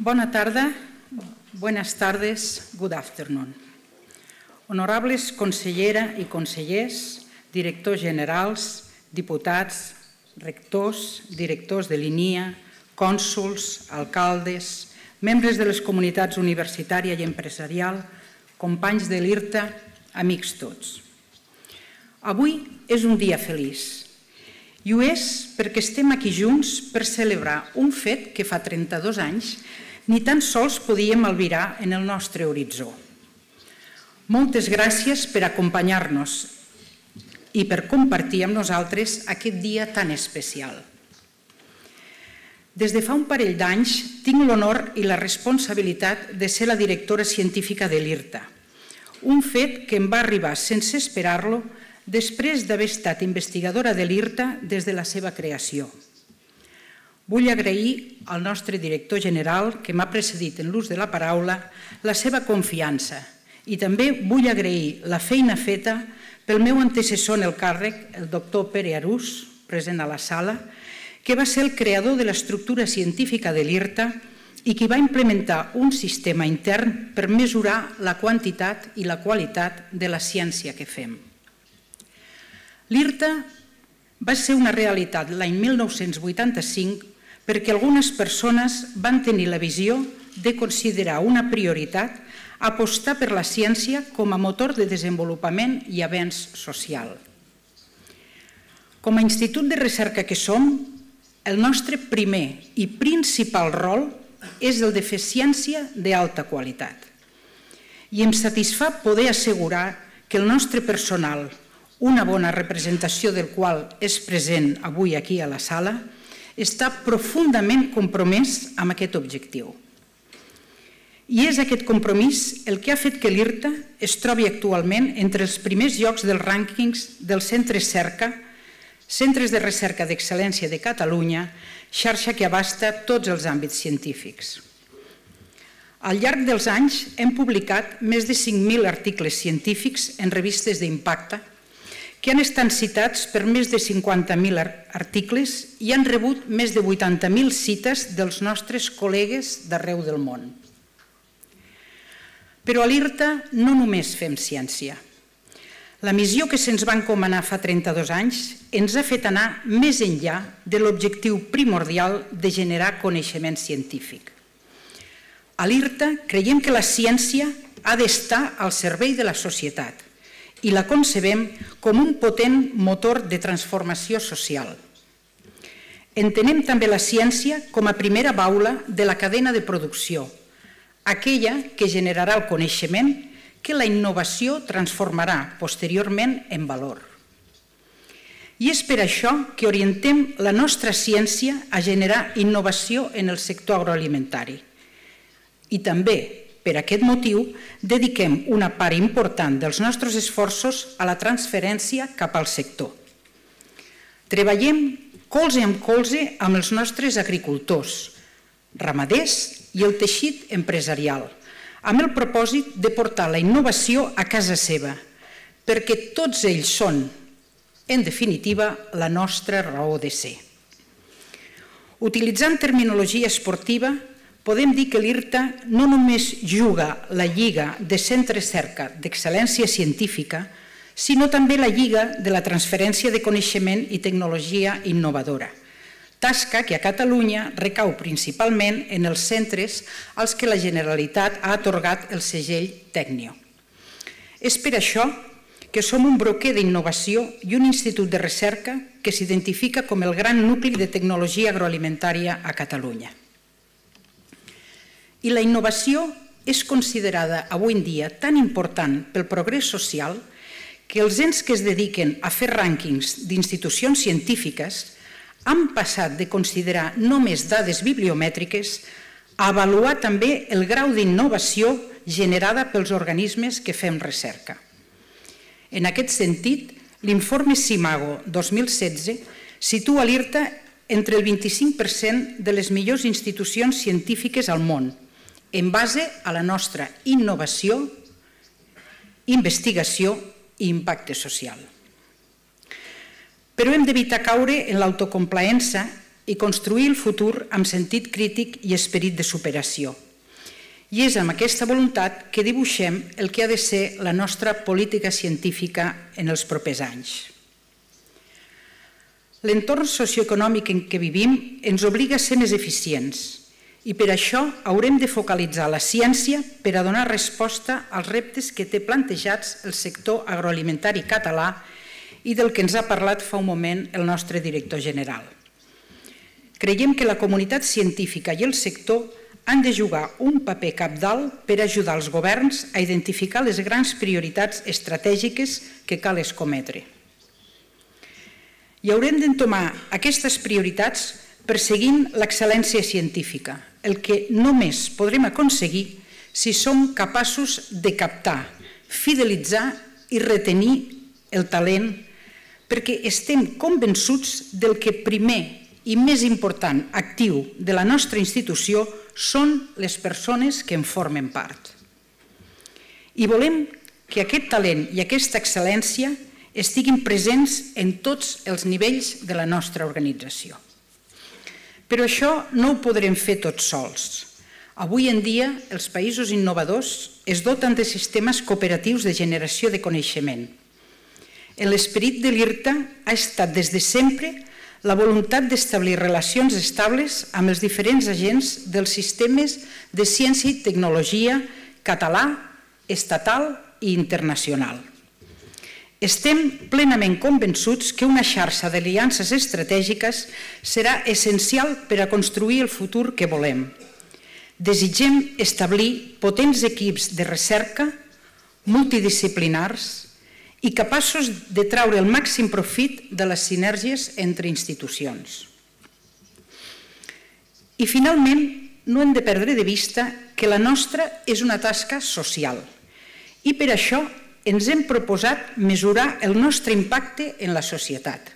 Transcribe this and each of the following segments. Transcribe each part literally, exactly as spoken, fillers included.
Bona tarda, buenas tardes, good afternoon. Honorables consellera i consellers, directors generals, diputats, rectors, directors de l'INIA, cònsols, alcaldes, membres de les comunitats universitària i empresarial, companys de l'IRTA, amics tots. Avui és un dia feliç. I ho és perquè estem aquí junts per celebrar un fet que fa trenta-dos anys ni tan sols podíem albirar en el nostre horitzó. Moltes gràcies per acompanyar-nos i per compartir amb nosaltres aquest dia tan especial. Des de fa un parell d'anys tinc l'honor i la responsabilitat de ser la directora científica de l'IRTA, un fet que em va arribar sense esperar-lo després d'haver estat investigadora de l'IRTA des de la seva creació. Vull agrair al nostre director general, que m'ha precedit en l'ús de la paraula, la seva confiança i també vull agrair la feina feta pel meu antecessor en el càrrec, el doctor Pere Arús, present a la sala, que va ser el creador de l'estructura científica de l'IRTA i que va implementar un sistema intern per mesurar la quantitat i la qualitat de la ciència que fem. L'IRTA va ser una realitat l'any mil nou-cents vuitanta-cinc perquè algunes persones van tenir la visió de considerar una prioritat apostar per la ciència com a motor de desenvolupament i avenç social. Com a institut de recerca que som, el nostre primer i principal rol és el de fer ciència d'alta qualitat. I em satisfà poder assegurar que el nostre personal, una bona representació del qual és present avui aquí a la sala, està profundament compromès amb aquest objectiu. I és aquest compromís el que ha fet que l'IRTA es trobi actualment entre els primers llocs dels rànquings dels centres cerca, centres de recerca d'excel·lència de Catalunya, xarxa que abasta tots els àmbits científics. Al llarg dels anys hem publicat més de cinc mil articles científics en revistes d'impacte que han estat citats per més de cinquanta mil articles i han rebut més de vuitanta mil cites dels nostres col·legues d'arreu del món. Però a l'IRTA no només fem ciència. La missió que se'ns va encomanar fa trenta-dos anys ens ha fet anar més enllà de l'objectiu primordial de generar coneixement científic. A l'IRTA creiem que la ciència ha d'estar al servei de la societat i la concebem com un potent motor de transformació social. Entenem també la ciència com a primera baula de la cadena de producció, aquella que generarà el coneixement que la innovació transformarà posteriorment en valor. I és per això que orientem la nostra ciència a generar innovació en el sector agroalimentari. I també, per aquest motiu, dediquem una part important dels nostres esforços a la transferència cap al sector. Treballem colze amb colze amb els nostres agricultors, ramaders i el teixit empresarial, amb el propòsit de portar la innovació a casa seva, perquè tots ells són, en definitiva, la nostra raó de ser. Utilitzant terminologia esportiva, podem dir que l'IRTA no només juga la lliga de centres cerca d'excel·lència científica, sinó també la lliga de la transferència de coneixement i tecnologia innovadora, tasca que a Catalunya recau principalment en els centres als que la Generalitat ha atorgat el segell Tecnio. És per això que som un broquer d'innovació i un institut de recerca que s'identifica com el gran nucli de tecnologia agroalimentària a Catalunya. I la innovació és considerada avui en dia tan important pel progrés social que els ens que es dediquen a fer rànquings d'institucions científiques han passat de considerar només dades bibliomètriques a avaluar també el grau d'innovació generada pels organismes que fem recerca. En aquest sentit, l'informe CIMAGO dos mil setze situa l'IRTA entre el vint-i-cinc per cent de les millors institucions científiques al món, en base a la nostra innovació, investigació i impacte social. Però hem d'evitar caure en l'autocomplaença i construir el futur amb sentit crític i esperit de superació. I és amb aquesta voluntat que dibuixem el que ha de ser la nostra política científica en els propers anys. L'entorn socioeconòmic en què vivim ens obliga a ser més eficients i per això haurem de focalitzar la ciència per a donar resposta als reptes que té plantejats el sector agroalimentari català i del que ens ha parlat fa un moment el nostre director general. Creiem que la comunitat científica i el sector han de jugar un paper cabdal per ajudar els governs a identificar les grans prioritats estratègiques que cal escometre. I haurem d'entomar aquestes prioritats perseguint l'excel·lència científica, el que només podrem aconseguir si som capaços de captar, fidelitzar i retenir el talent, perquè estem convençuts del que primer i més important actiu de la nostra institució són les persones que en formen part. I volem que aquest talent i aquesta excel·lència estiguin presents en tots els nivells de la nostra organització. Però això no ho podrem fer tots sols. Avui en dia, els països innovadors es doten de sistemes cooperatius de generació de coneixement. En l'esperit de l'IRTA ha estat des de sempre la voluntat d'establir relacions estables amb els diferents agents dels sistemes de ciència i tecnologia català, estatal i internacional. Estem plenament convençuts que una xarxa d'aliances estratègiques serà essencial per a construir el futur que volem. Desitgem establir potents equips de recerca multidisciplinars i capaços de traure el màxim profit de les sinergies entre institucions. I finalment, no hem de perdre de vista que la nostra és una tasca social i per això ens hem proposat mesurar el nostre impacte en la societat.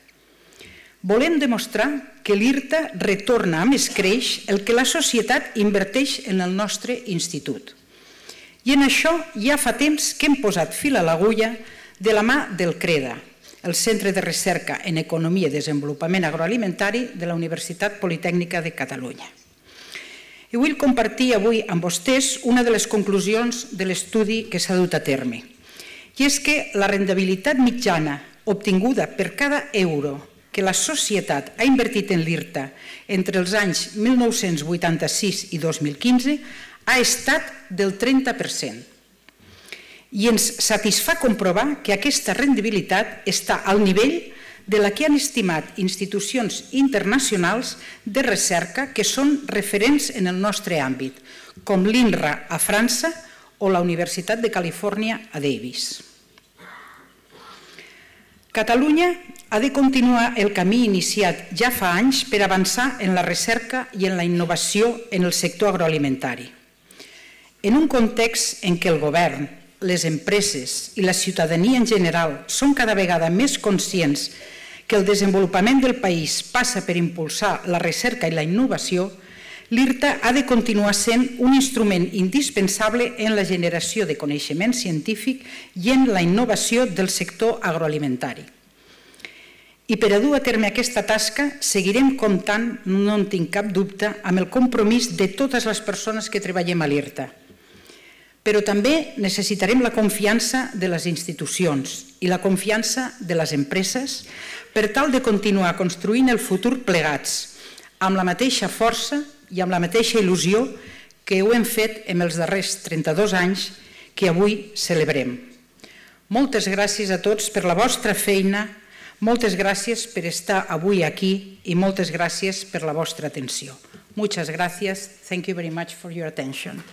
Volem demostrar que l'IRTA retorna amb escreix el que la societat inverteix en el nostre institut. I en això ja fa temps que hem posat fil a l'agulla de la mà del CREDA, el Centre de Recerca en Economia i Desenvolupament Agroalimentari de la Universitat Politècnica de Catalunya. I vull compartir avui amb vostès una de les conclusions de l'estudi que s'ha dut a terme. I és que la rendibilitat mitjana obtinguda per cada euro que la societat ha invertit en l'IRTA entre els anys mil nou-cents vuitanta-sis i dos mil quinze ha estat del trenta per cent. I ens satisfà comprovar que aquesta rendibilitat està al nivell de la que han estimat institucions internacionals de recerca que són referents en el nostre àmbit, com l'INRA a França o la Universitat de Califòrnia a Davis. Catalunya ha de continuar el camí iniciat ja fa anys per avançar en la recerca i en la innovació en el sector agroalimentari. En un context en què el govern, les empreses i la ciutadania en general són cada vegada més conscients que el desenvolupament del país passa per impulsar la recerca i la innovació, l'IRTA ha de continuar sent un instrument indispensable en la generació de coneixement científic i en la innovació del sector agroalimentari. I per a dur a terme aquesta tasca seguirem comptant, no en tinc cap dubte, amb el compromís de totes les persones que treballem a l'IRTA. Però també necessitarem la confiança de les institucions i la confiança de les empreses per tal de continuar construint el futur plegats, amb la mateixa força i amb la mateixa il·lusió que ho hem fet en els darrers trenta-dos anys que avui celebrem. Moltes gràcies a tots per la vostra feina, moltes gràcies per estar avui aquí i moltes gràcies per la vostra atenció. Muchas gracias. Thank you very much for your attention.